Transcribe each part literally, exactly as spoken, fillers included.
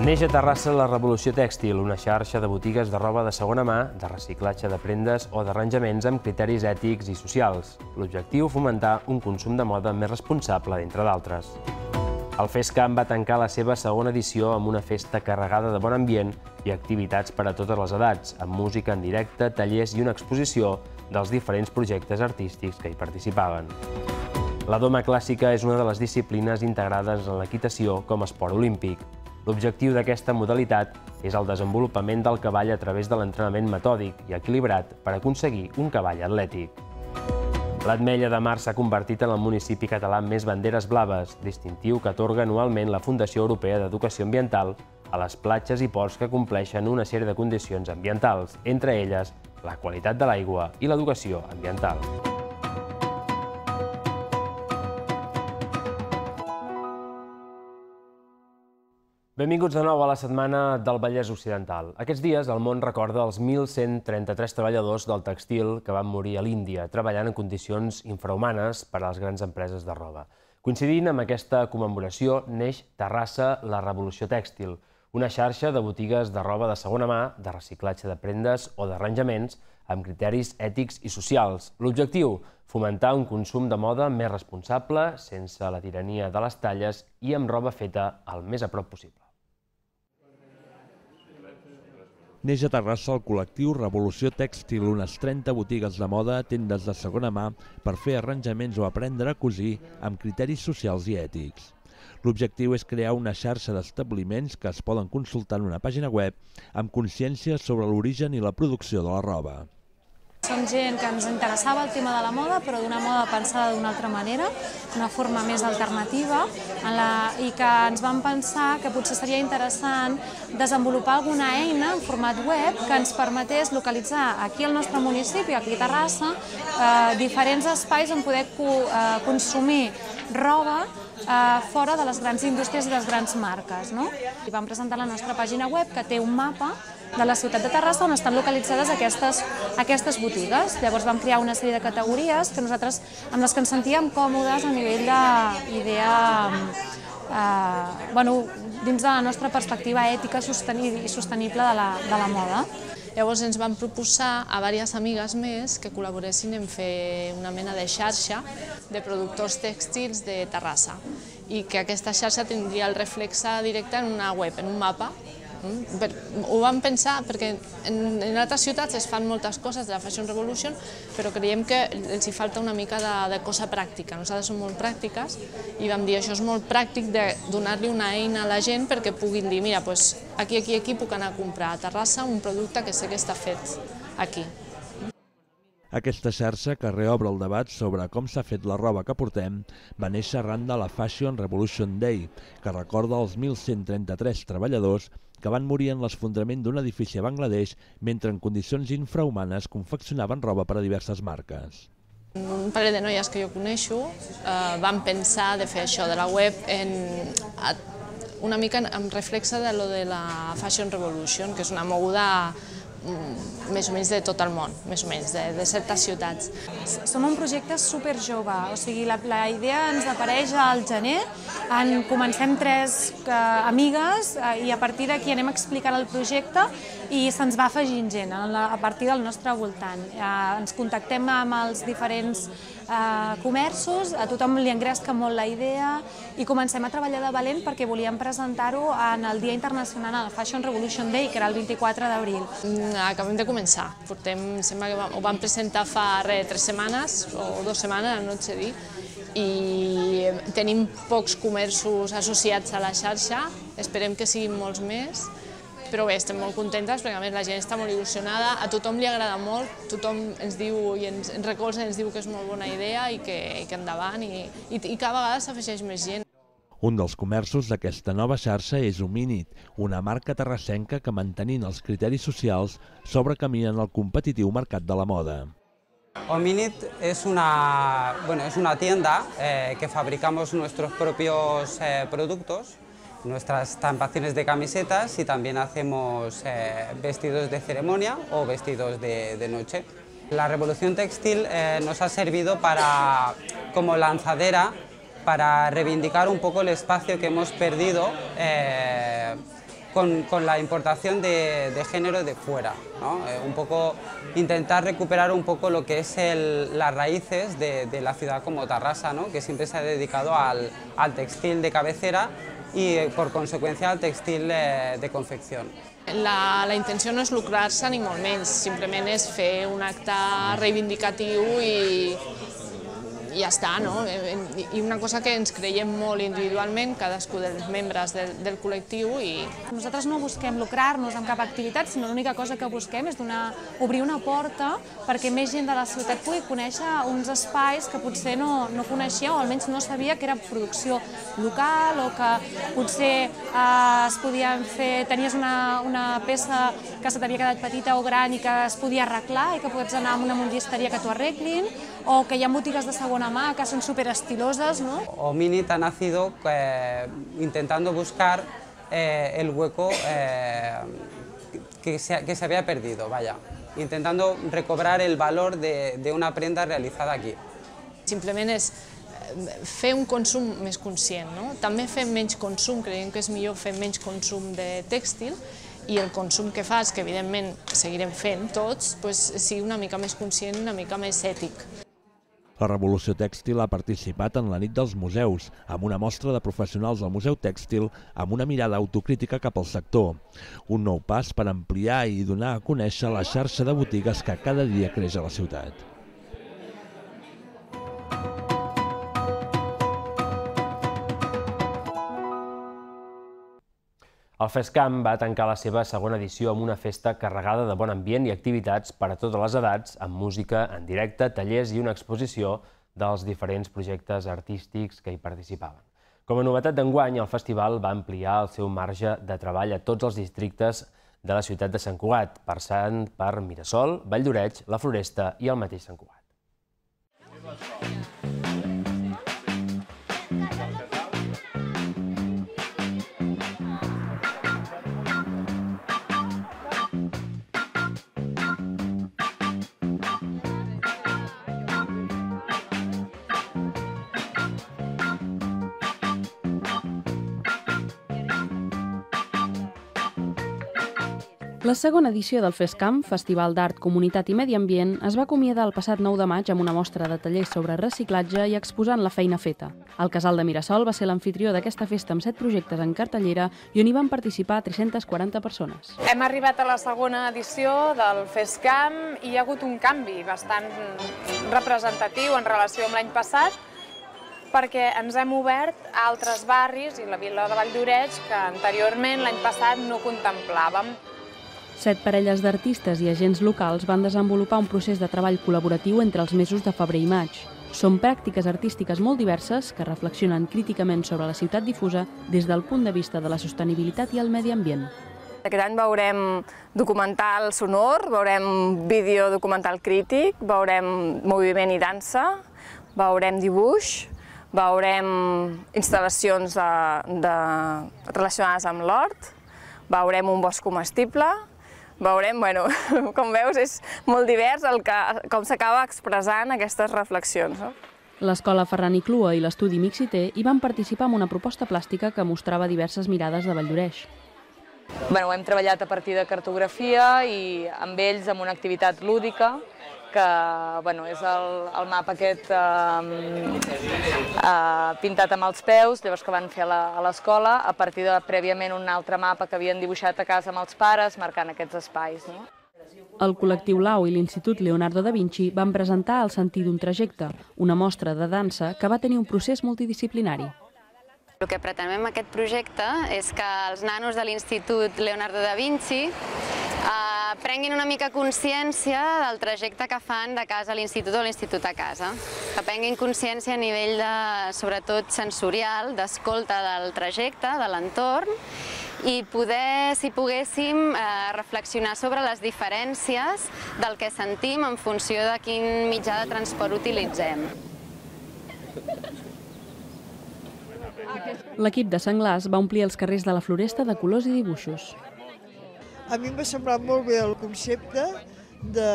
Neix a Terrassa la Revolució Tèxtil, una xarxa de botigues de roba de segona mà, de reciclatge de prendes o d'arranjaments amb criteris ètics i socials. L'objectiu, fomentar un consum de moda més responsable, entre d'altres. El FESCAM va tancar la seva segona edició amb una festa carregada de bon ambient i activitats per a totes les edats, amb música en directe, tallers i una exposició dels diferents projectes artístics que hi participaven. La doma clàssica és una de les disciplines integrades en l'equitació com a esport olímpic. L'objectiu d'aquesta modalitat és el desenvolupament del cavall a través de l'entrenament metòdic i equilibrat per aconseguir un cavall atlètic. L'Ametlla de Mar s'ha convertit en el municipi català amb més banderes blaves, distintiu que atorga anualment la Fundació Europea d'Educació Ambiental a les platges i ports que compleixen una sèrie de condicions ambientals, entre elles la qualitat de l'aigua i l'educació ambiental. Benvinguts de nou a la setmana del Vallès Occidental. Aquests dies el món recorda els mil cent trenta-tres treballadors del tèxtil que van morir a l'Índia, treballant en condicions infrahumanes per a les grans empreses de roba. Coincidint amb aquesta commemoració, neix Terrassa la Revolució Tèxtil, una xarxa de botigues de roba de segona mà, de reciclatge de prendes o d'arranjaments amb criteris ètics i socials. L'objectiu, fomentar un consum de moda més responsable, sense la tirania de les talles i amb roba feta el més a prop possible. Neix a Terrassa el col·lectiu Revolució Tèxtil, unes trenta botigues de moda, tendes de segona mà, per fer arranjaments o aprendre a cosir amb criteris socials i ètics. L'objectiu és crear una xarxa d'establiments que es poden consultar en una pàgina web amb consciència sobre l'origen i la producció de la roba. Som gent que ens interessava el tema de la moda, però d'una moda pensada d'una altra manera, d'una forma més alternativa, i que ens vam pensar que potser seria interessant desenvolupar alguna eina en format web que ens permetés localitzar aquí al nostre municipi, aquí a Terrassa, diferents espais on poder consumir roba fora de les grans indústries i de les grans marques. I vam presentar la nostra pàgina web que té un mapa de la ciutat de Terrassa on estan localitzades aquestes botigues. Llavors vam crear una sèrie de categories amb les que ens sentíem còmodes a nivell d'idea dins de la nostra perspectiva ètica i sostenible de la moda. Llavors ens vam proposar a diverses amigues més que col·laboressin en fer una mena de xarxa de productors tèxtils de Terrassa i que aquesta xarxa tindria el reflexe directe en una web, en un mapa. Ho vam pensar perquè en altres ciutats es fan moltes coses de la Fashion Revolution, però creiem que els hi falta una mica de cosa pràctica. Nosaltres som molt pràctiques i vam dir això és molt pràctic de donar-li una eina a la gent perquè puguin dir mira, aquí, aquí, aquí puc anar a comprar a Terrassa un producte que sé que està fet aquí. Aquesta xarxa, que reobre el debat sobre com s'ha fet la roba que portem, va néixer arran de la Fashion Revolution Day, que recorda els mil cent trenta-tres treballadors que van morir en l'esfondrament d'un edifici a Bangladesh mentre en condicions infrahumanes confeccionaven roba per a diverses marques. Un parell de noies que jo coneixo van pensar de fer això de la web una mica amb reflexe de lo de la Fashion Revolution, que és una moguda més o menys de tot el món, més o menys, de certes ciutats. Som un projecte superjove, o sigui, la idea ens apareix al gener, comencem tres amigues i a partir d'aquí anem explicant el projecte i se'ns va afegint gent a partir del nostre voltant. Ens contactem amb els diferents comerços, a tothom li engresca molt la idea i comencem a treballar de valent perquè volíem presentar-ho en el Dia Internacional, el Fashion Revolution Day, que era el vint-i-quatre d'abril. Acabem de començar, sembla que ho vam presentar fa tres setmanes o dues setmanes, no et sé dir, i tenim pocs comerços associats a la xarxa, esperem que siguin molts més, però bé, estem molt contentes perquè a més la gent està molt il·lusionada, a tothom li agrada molt, tothom ens diu i ens recolza, ens diu que és molt bona idea i que endavant i cada vegada s'afegeix més gent. Un dels comerços d'aquesta nova xarxa és Homínid, una marca terrassenca que, mantenint els criteris socials, s'obre camí en el competitiu mercat de la moda. Homínid es una, bueno, es una tienda eh, que fabricamos nuestros propios eh, productos, nuestras estampaciones de camisetas y también hacemos eh, vestidos de ceremonia o vestidos de, de noche. La revolución textil eh, nos ha servido para, como lanzadera para reivindicar un poco el espacio que hemos perdido eh, con, con la importación de, de género de fuera, ¿no? Eh, un poco intentar recuperar un poco lo que es el, las raíces de, de la ciudad como Tarrasa, ¿no? Que siempre se ha dedicado al, al textil de cabecera i, per conseqüència, al textil de, de confecció. La, la intenció no és lucrar-se ni molt menys, simplement és fer un acte reivindicatiu i, i ja està, no? I una cosa que ens creiem molt individualment, cadascú dels membres del, del col·lectiu. I... Nosaltres no busquem lucrar-nos amb cap activitat, sinó l'única cosa que busquem és donar, obrir una porta perquè més gent de la ciutat pugui conèixer uns espais que potser no, no coneixia o almenys no sabia que era producció local o que potser eh, es podien fer, tenies una, una peça que se t'havia quedat petita o gran i que es podia arreglar i que pots anar a una mundisteria que t'ho arreglin, o que hi ha botigues de segona mà que són superestiloses, ¿no? Ominit ha nacido eh, intentando buscar eh, el hueco eh, que, se, que se había perdido, vaya, intentando recobrar el valor de, de una prenda realizada aquí. Simplement és fer un consum més conscient, no? També fem menys consum, creiem que és millor fer menys consum de tèxtil i el consum que fas, que evidentment seguirem fent tots, doncs sigui una mica més conscient, una mica més ètic. La Revolució Tèxtil ha participat en la nit dels museus, amb una mostra de professionals del Museu Tèxtil amb una mirada autocrítica cap al sector. Un nou pas per ampliar i donar a conèixer la xarxa de botigues que cada dia creix a la ciutat. El FESCAM va tancar la seva segona edició amb una festa carregada de bon ambient i activitats per a totes les edats, amb música en directe, tallers i una exposició dels diferents projectes artístics que hi participaven. Com a novetat d'enguany, el festival va ampliar el seu marge de treball a tots els districtes de la ciutat de Sant Cugat, passant per Mirasol, Vall d'Oreig, la Floresta i el mateix Sant Cugat. La segona edició del FESCAM, Festival d'Art, Comunitat i Medi Ambient, es va acomiadar el passat nou de maig amb una mostra de tallers sobre reciclatge i exposant la feina feta. El Casal de Mirasol va ser l'amfitrió d'aquesta festa amb set projectes en cartellera i on hi van participar tres-centes quaranta persones. Hem arribat a la segona edició del FESCAM i hi ha hagut un canvi bastant representatiu en relació amb l'any passat, perquè ens hem obert a altres barris i la vila de Vall d'Oreig que anteriorment, l'any passat, no contemplàvem. Set parelles d'artistes i agents locals van desenvolupar un procés de treball col·laboratiu entre els mesos de febrer i maig. Són pràctiques artístiques molt diverses que reflexionen críticament sobre la ciutat difusa des del punt de vista de la sostenibilitat i el medi ambient. Aquest any veurem documental sonor, veurem vídeo documental crític, veurem moviment i dansa, veurem dibuix, veurem instal·lacions de, de, relacionades amb l'hort, veurem un bosc comestible, veurem, bueno, com veus, és molt divers el que, com s'acaba expressant aquestes reflexions. No? L'Escola Ferran i Clua i l'Estudi Mixité hi van participar en una proposta plàstica que mostrava diverses mirades de Vall d'Oreig. Bueno, hem treballat a partir de cartografia i amb ells amb una activitat lúdica que bueno, és el, el mapa aquest eh, eh, pintat amb els peus, llavors que van fer a l'escola, a partir de prèviament un altre mapa que havien dibuixat a casa amb els pares, marcant aquests espais. No? El col·lectiu Lau i l'Institut Leonardo da Vinci van presentar El sentir d'un trajecte, una mostra de dansa que va tenir un procés multidisciplinari. El que pretenem amb aquest projecte és que els nanos de l'Institut Leonardo da Vinci eh, prenguin una mica consciència del trajecte que fan de casa a l'institut o l'institut a casa. Que prenguin consciència a nivell de, sobretot sensorial, d'escolta del trajecte, de l'entorn, i poder, si poguéssim, eh, reflexionar sobre les diferències del que sentim en funció de quin mitjà de transport utilitzem. L'equip de Senglars va omplir els carrers de la Floresta de colors i dibuixos. A mi em va semblar molt bé el concepte de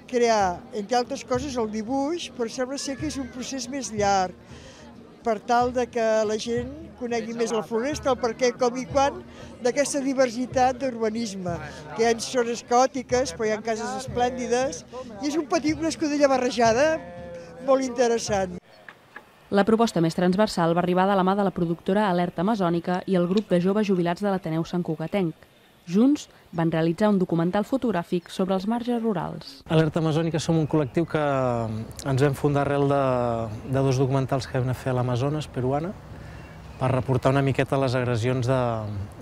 crear, entre altres coses, el dibuix, però sembla ser que és un procés més llarg. per tal de que la gent conegui més la floresta, el per què, com i quan, d'aquesta diversitat d'urbanisme, que hi ha zones caòtiques, però hi ha cases esplèndides, i és un petit, una escudella barrejada molt interessant. La proposta més transversal va arribar de la mà de la productora Alerta Amazònica i el grup de joves jubilats de l'Ateneu Sant Cugatenc. Junts van realitzar un documental fotogràfic sobre els marges rurals. Alerta Amazònica som un col·lectiu que ens vam fundar arrel de, de dos documentals que vam anar a fer a l'Amazones peruana per reportar una miqueta les agressions de,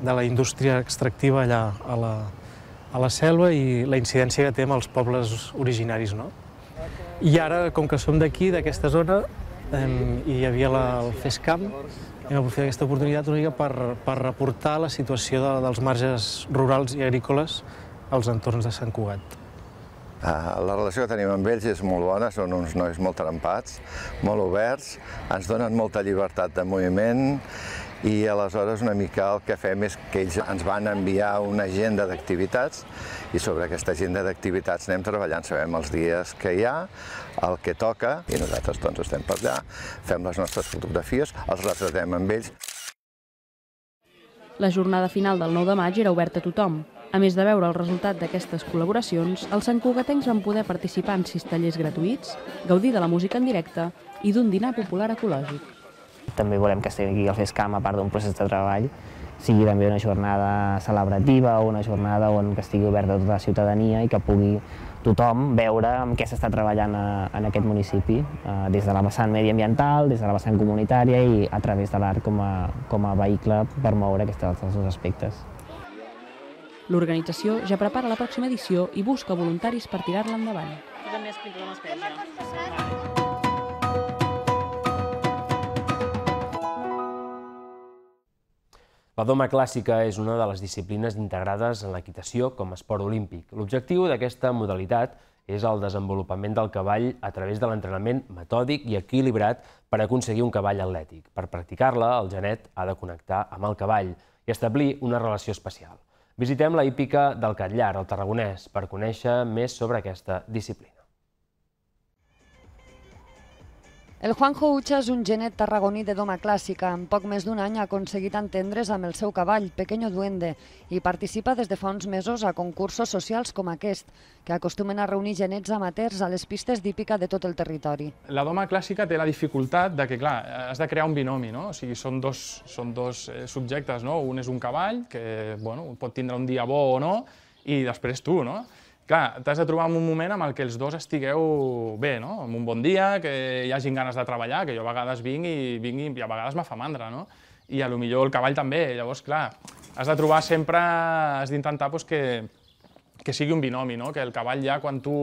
de la indústria extractiva allà a la, a la selva i la incidència que té amb els pobles originaris, no? I ara, com que som d'aquí, d'aquesta zona, i hi havia la, el FESCAM, hem aprofitat aquesta oportunitat una mica per, per reportar la situació de, dels marges rurals i agrícoles als entorns de Sant Cugat. La relació que tenim amb ells és molt bona, són uns nois molt trempats, molt oberts, ens donen molta llibertat de moviment i aleshores una mica el que fem és que ells ens van enviar una agenda d'activitats i sobre aquesta agenda d'activitats anem treballant, sabem els dies que hi ha, el que toca, i nosaltres doncs estem per allà, fem les nostres fotografies, els retratem amb ells. La jornada final del nou de maig era oberta a tothom. A més de veure el resultat d'aquestes col·laboracions, els santcugatencs van poder participar en sis tallers gratuïts, gaudir de la música en directe i d'un dinar popular ecològic. També volem que estigui al FESCAM, a part d'un procés de treball, sigui també una jornada celebrativa o una jornada on estigui oberta a tota la ciutadania i que pugui tothom veure amb què s'està treballant en aquest municipi, des de la vessant mediambiental, des de la vessant comunitària i a través de l'art com a, com a vehicle per moure aquests dos aspectes. L'organització ja prepara la pròxima edició i busca voluntaris per tirar-la endavant. La doma clàssica és una de les disciplines integrades en l'equitació com a esport olímpic. L'objectiu d'aquesta modalitat és el desenvolupament del cavall a través de l'entrenament metòdic i equilibrat per aconseguir un cavall atlètic. Per practicar-la, el genet ha de connectar amb el cavall i establir una relació especial. Visitem la hípica del Catllar, al Tarragonès, per conèixer més sobre aquesta disciplina. El Juanjo Ucha és un genet tarragoní de doma clàssica. En poc més d'un any ha aconseguit entendre's amb el seu cavall, Pequeño Duende, i participa des de fa uns mesos a concursos socials com aquest, que acostumen a reunir genets amateurs a les pistes d'hípica de tot el territori. La doma clàssica té la dificultat de que, clar, has de crear un binomi, no? O sigui, són dos, són dos subjectes, no? Un és un cavall, que bueno, pot tindre un dia bo o no, i després tu, no? Clar, t'has de trobar en un moment en què els dos estigueu bé, no? En un bon dia, que hi hagin ganes de treballar, que jo a vegades vinc i, vinc i a vegades me fa mandra, no? I a lo millor el cavall també. Llavors, clar, has de trobar sempre, has d'intentar pues, que, que sigui un binomi, no? Que el cavall ja, quan tu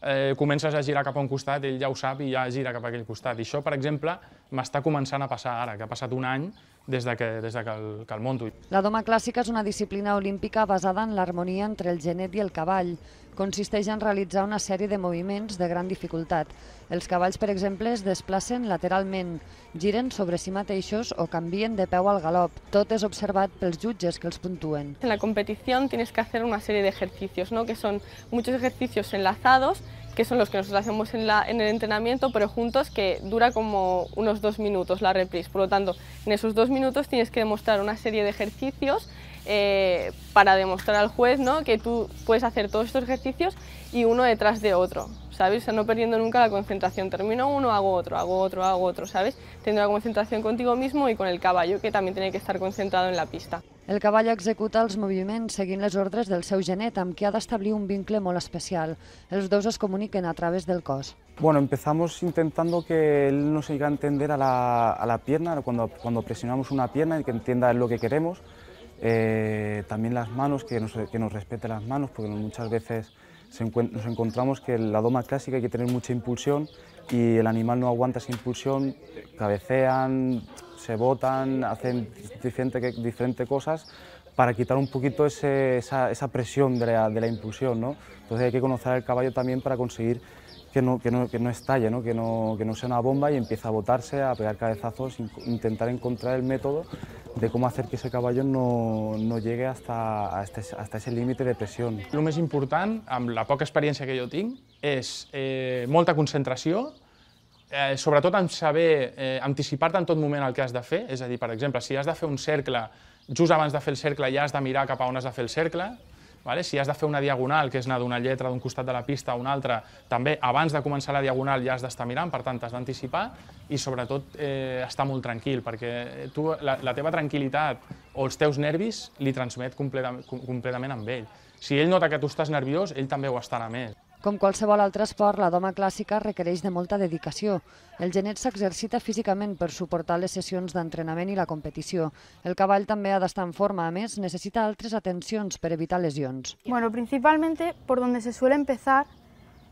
eh, comences a girar cap a un costat, ell ja ho sap i ja gira cap a aquell costat. I això, per exemple, m'està començant a passar ara, que ha passat un any des de que, des de que, el, que el monto. La doma clàssica és una disciplina olímpica basada en l'harmonia entre el genet i el cavall. Consisteix en realitzar una sèrie de moviments de gran dificultat. Els cavalls, per exemple, es desplacen lateralment, giren sobre si mateixos o canvien de peu al galop. Tot és observat pels jutges que els puntuen. En la competición tienes que hacer una serie de ejercicios, ¿no? Que son muchos ejercicios enlazados, que son los que nosotros hacemos en, la, en el entrenamiento, pero juntos, que dura como unos dos minutos la reprise. Por lo tanto, en esos dos minutos tienes que demostrar una serie de ejercicios eh, para demostrar al juez, ¿no? Que tú puedes hacer todos estos ejercicios y uno detrás de otro, ¿sabes? O sea, no perdiendo nunca la concentración. Termino uno, hago otro, hago otro, hago otro, ¿sabes? Teniendo la concentración contigo mismo y con el caballo, que también tiene que estar concentrado en la pista. El cavall executa els moviments seguint les ordres del seu genet, amb qui ha d'establir un vincle molt especial. Els dos es comuniquen a través del cos. Bueno, empezamos intentando que él nos llegue a entender a la, a la pierna, cuando, cuando presionamos una pierna y que entienda lo que queremos. Eh, también las manos, que nos, que nos respete las manos, porque muchas veces se nos encontramos que en la doma clásica hay que tener mucha impulsión y el animal no aguanta esa impulsión, cabecean, se botan, hacen diferentes diferente cosas para quitar un poquito ese, esa, esa presión de la, de la impulsión, ¿no? Entonces hay que conocer al caballo también para conseguir que no, que no, que no estalle, ¿no? Que, no, que no sea una bomba y empiece a botarse, a pegar cabezazos, intentar encontrar el método de cómo hacer que ese caballo no, no llegue hasta, hasta, hasta ese límite de presión. El més important, amb la poca experiència que jo tinc, és eh, molta concentració sobretot en saber anticipar-te en tot moment el que has de fer, és a dir, per exemple, si has de fer un cercle, just abans de fer el cercle ja has de mirar cap a on has de fer el cercle, si has de fer una diagonal, que és anar d'una lletra d'un costat de la pista a una altra, també abans de començar la diagonal ja has d'estar mirant, per tant t'has d'anticipar i sobretot estar molt tranquil, perquè tu la teva tranquil·litat o els teus nervis li transmet completament amb ell. Si ell nota que tu estàs nerviós, ell també ho estarà més. Com qualsevol altre esport, la doma clàssica requereix de molta dedicació. El genet s'exercita físicament per suportar les sessions d'entrenament i la competició. El cavall també ha d'estar en forma, a més, necessita altres atencions per evitar lesions. Bueno, principalmente por donde se suele empezar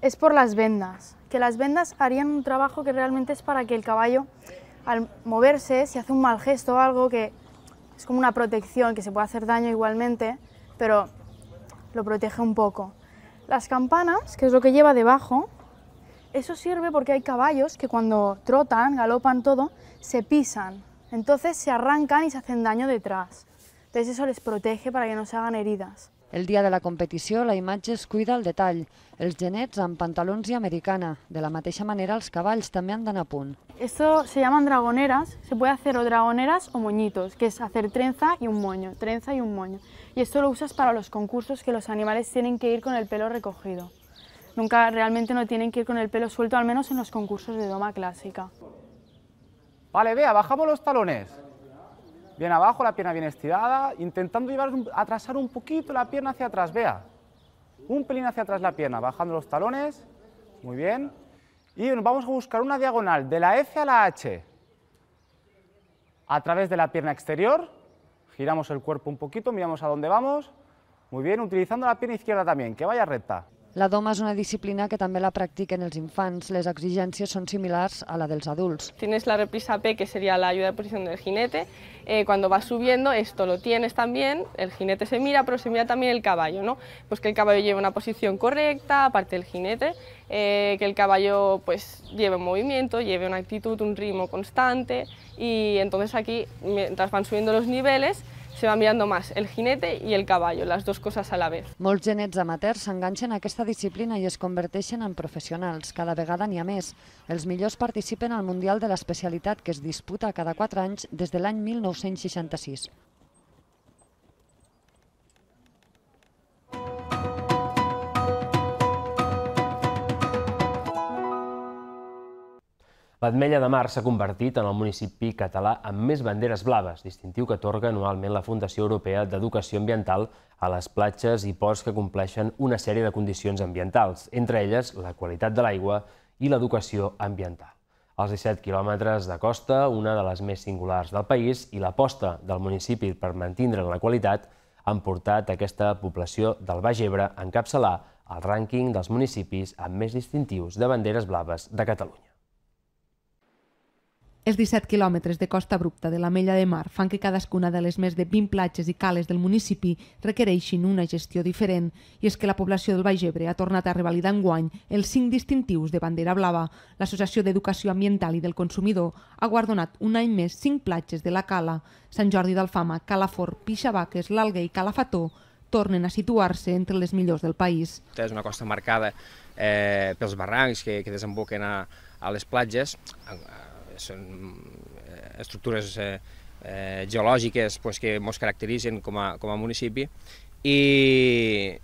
es por las vendas, que las vendas harían un trabajo que realmente es para que el caballo, al moverse, si hace un mal gesto o algo, que es como una protección, que se puede hacer daño igualmente, pero lo protege un poco. Las campanas, que es lo que lleva debajo, eso sirve porque hay caballos que cuando trotan, galopan todo, se pisan. Entonces se arrancan y se hacen daño detrás. Entonces eso les protege para que no se hagan heridas. El dia de la competició, la imatge es cuida al detall. Els genets amb pantalons i americana. De la mateixa manera, els cavalls també han d'anar a punt. Esto se llaman dragoneras. Se puede hacer o dragoneras o moñitos, que es hacer trenza y un moño, trenza y un moño. Y esto lo usas para los concursos, que los animales tienen que ir con el pelo recogido. Nunca realmente no tienen que ir con el pelo suelto, al menos en los concursos de doma clásica. Vale, vea, bajamos los talones. Bien abajo, la pierna bien estirada, intentando llevar, atrasar un poquito la pierna hacia atrás, vea. Un pelín hacia atrás la pierna, bajando los talones, muy bien. Y vamos a buscar una diagonal de la F a la H. A través de la pierna exterior, giramos el cuerpo un poquito, miramos a dónde vamos. Muy bien, utilizando la pierna izquierda también, que vaya recta. La doma és una disciplina que també la practiquen els infants. Les exigències són similars a la dels adults. Tienes la reprisa P, que sería la ayuda de posición del jinete. Eh, cuando vas subiendo, esto lo tienes también, el jinete se mira, pero se mira también el caballo, ¿no? Pues que el caballo lleve una posición correcta, aparte del jinete, eh, que el caballo pues lleve un movimiento, lleve una actitud, un ritmo constante, y entonces aquí, mientras van subiendo los niveles, se va mirando más el jinete y el caballo, las dos cosas a la vez. Molts genets amateurs s'enganxen a aquesta disciplina i es converteixen en professionals. Cada vegada n'hi ha més. Els millors participen al Mundial de l'especialitat, que es disputa cada quatre anys des de l'any mil nou-cents seixanta-sis. L'Ametlla de Mar s'ha convertit en el municipi català amb més banderes blaves, distintiu que atorga anualment la Fundació Europea d'Educació Ambiental a les platges i ports que compleixen una sèrie de condicions ambientals, entre elles la qualitat de l'aigua i l'educació ambiental. Els disset quilòmetres de costa, una de les més singulars del país, i l'aposta del municipi per mantindre la qualitat han portat aquesta població del Baix Ebre a encapçalar el rànquing dels municipis amb més distintius de banderes blaves de Catalunya. Els disset quilòmetres de costa abrupta de l'Ametlla de Mar fan que cadascuna de les més de vint platges i cales del municipi requereixin una gestió diferent, i és que la població del Baix Ebre ha tornat a revalidar enguany els cinc distintius de bandera blava. L'Associació d'Educació Ambiental i del Consumidor ha guardonat un any més cinc platges de la Cala. Sant Jordi d'Alfama, Calafort, Pixabaques, l'Alguer i Calafató tornen a situar-se entre les millors del país. És una costa marcada eh, pels barrancs que, que desemboquen a, a les platges. Són estructures eh, eh, geològiques pues, que ens caracteritzen com a, com a municipi, i,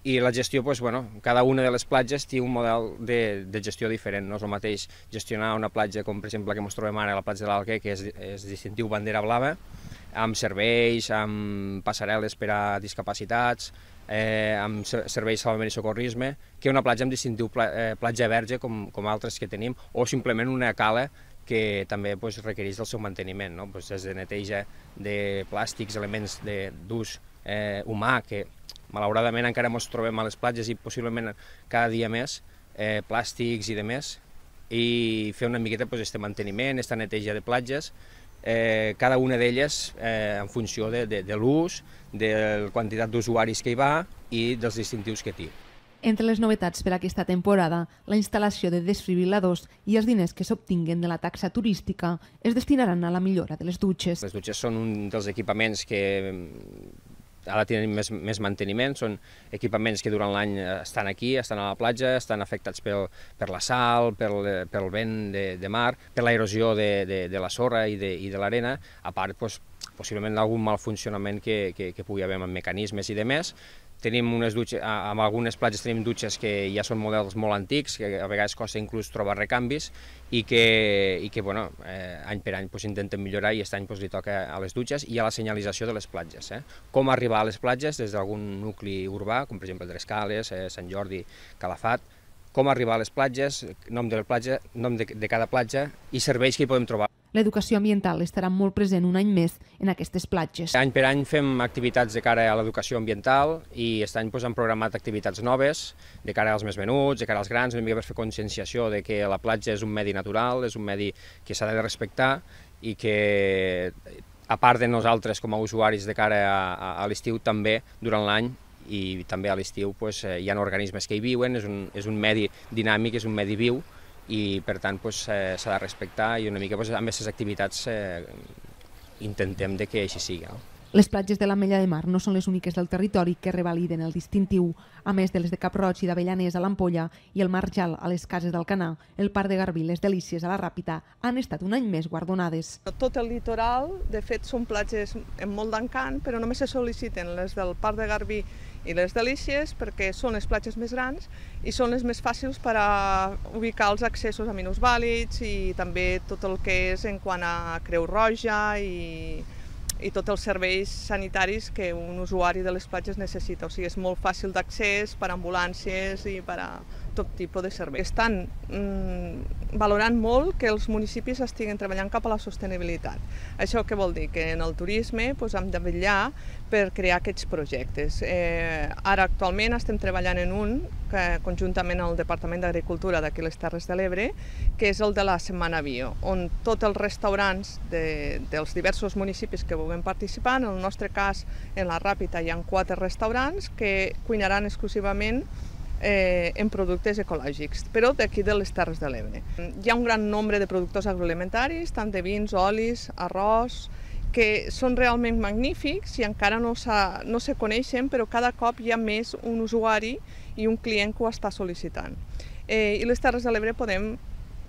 i la gestió, pues, bueno, cada una de les platges té un model de, de gestió diferent. No és el mateix gestionar una platja com per exemple la que ens trobem ara a la platja de l'Alguer, que és, és distintiu bandera blava, amb serveis, amb passarel·les per a discapacitats, eh, amb serveis de salvament i socorrisme, que una platja amb distintiu pla, eh, platja verge com, com altres que tenim, o simplement una cala que també pues, requereix del seu manteniment, no? Pues, des de neteja de plàstics, elements d'ús eh, humà, que malauradament encara ens trobem a les platges i possiblement cada dia més, eh, plàstics i demés, i fer una miqueta pues, este manteniment, esta neteja de platges, eh, cada una d'elles eh, en funció de, de, de l'ús, de la quantitat d'usuaris que hi va i dels distintius que té. Entre les novetats per aquesta temporada, la instal·lació de desfibril·ladors i els diners que s'obtinguen de la taxa turística es destinaran a la millora de les dutxes. Les dutxes són un dels equipaments que ara tenen més, més manteniment, són equipaments que durant l'any estan aquí, estan a la platja, estan afectats pel, per la sal, pel, pel vent de, de mar, per l'erosió de, de, de la sorra i de, i de l'arena, a part, doncs, possiblement algun mal funcionament que, que, que pugui haver amb mecanismes i demés. Tenim unes dutxes, amb algunes platges tenim dutxes que ja són models molt antics, que a vegades costa inclús trobar recanvis i que, i que bueno, eh, any per any pues, intentem millorar i aquest any pues, li toca a les dutxes i a la senyalització de les platges. Eh? Com arribar a les platges des d'algun nucli urbà, com per exemple Trescales, eh, Sant Jordi, Calafat, com arribar a les platges, nom de la platja, nom de, de cada platja i serveis que hi podem trobar. L'educació ambiental estarà molt present un any més en aquestes platges. Any per any fem activitats de cara a l'educació ambiental i aquest any doncs, hem programat activitats noves de cara als més menuts, de cara als grans, una mica per fer conscienciació de que la platja és un medi natural, és un medi que s'ha de respectar i que, a part de nosaltres com a usuaris de cara a, a, a l'estiu, també durant l'any i també a l'estiu pues, hi ha organismes que hi viuen, és un, és un medi dinàmic, és un medi viu, i per tant s'ha eh, de respectar i una mica pues, amb aquestes activitats eh, intentem de que així sigui. No? Les platges de l'Ametlla de Mar no són les úniques del territori que revaliden el distintiu. A més de les de Cap-roig i d'Avellaners a l'Ampolla i el Marjal a les Cases d'Alcanar, el Parc de Garbí i les Delícies a la Ràpita han estat un any més guardonades. Tot el litoral, de fet, són platges amb molt d'encant, però només se sol·liciten les del Parc de Garbí i les Delícies perquè són les platges més grans i són les més fàcils per a ubicar els accessos a minusvàlids i també tot el que és en quant a Creu Roja i, i tots els serveis sanitaris que un usuari de les platges necessita. O sigui, és molt fàcil d'accés per a ambulàncies i per a tot tipus de serveis. Estan mm, valorant molt que els municipis estiguin treballant cap a la sostenibilitat. Això què vol dir? Que en el turisme doncs, hem de vetllar per crear aquests projectes. Eh, ara actualment estem treballant en un, que, conjuntament amb el Departament d'Agricultura d'aquí les Terres de l'Ebre, que és el de la Setmana Bio, on tots els restaurants de, dels diversos municipis que vulguin participar, en el nostre cas, en la Ràpita hi ha quatre restaurants que cuinaran exclusivament Eh, en productes ecològics, però d'aquí de les Terres de l'Ebre. Hi ha un gran nombre de productors agroalimentaris, tant de vins, olis, arròs, que són realment magnífics i encara no, no se coneixen, però cada cop hi ha més un usuari i un client que ho està sol·licitant. Eh, I les Terres de l'Ebre podem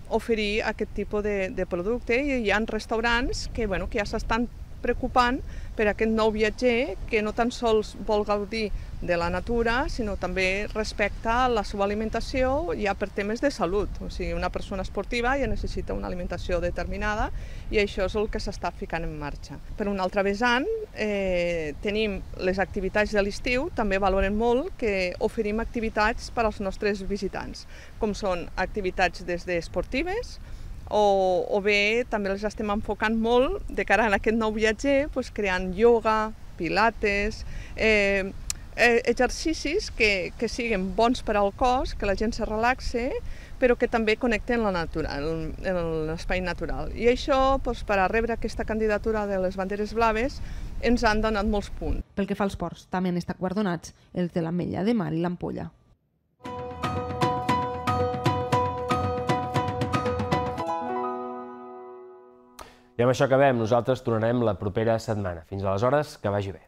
oferir aquest tipus de, de producte i hi ha restaurants que, bueno, que ja s'estan preocupant per aquest nou viatger que no tan sols vol gaudir de la natura, sinó també respecta la seva alimentació ja per temes de salut. O sigui, una persona esportiva ja necessita una alimentació determinada i això és el que s'està ficant en marxa. Per un altre vessant, eh, tenim les activitats de l'estiu, també valoren molt que oferim activitats per als nostres visitants, com són activitats des d'esportives, O, o bé també les estem enfocant molt de cara a aquest nou viatger, doncs, creant ioga, pilates, eh, eh, exercicis que, que siguin bons per al cos, que la gent se relaxe, però que també connecten la natura, l'espai natural. I això, doncs, per a rebre aquesta candidatura de les banderes blaves, ens han donat molts punts. Pel que fa als ports, també han estat guardonats els de l'Ametlla de Mar i l'Ampolla. I amb això acabem. Nosaltres tornarem la propera setmana. Fins aleshores, que vagi bé.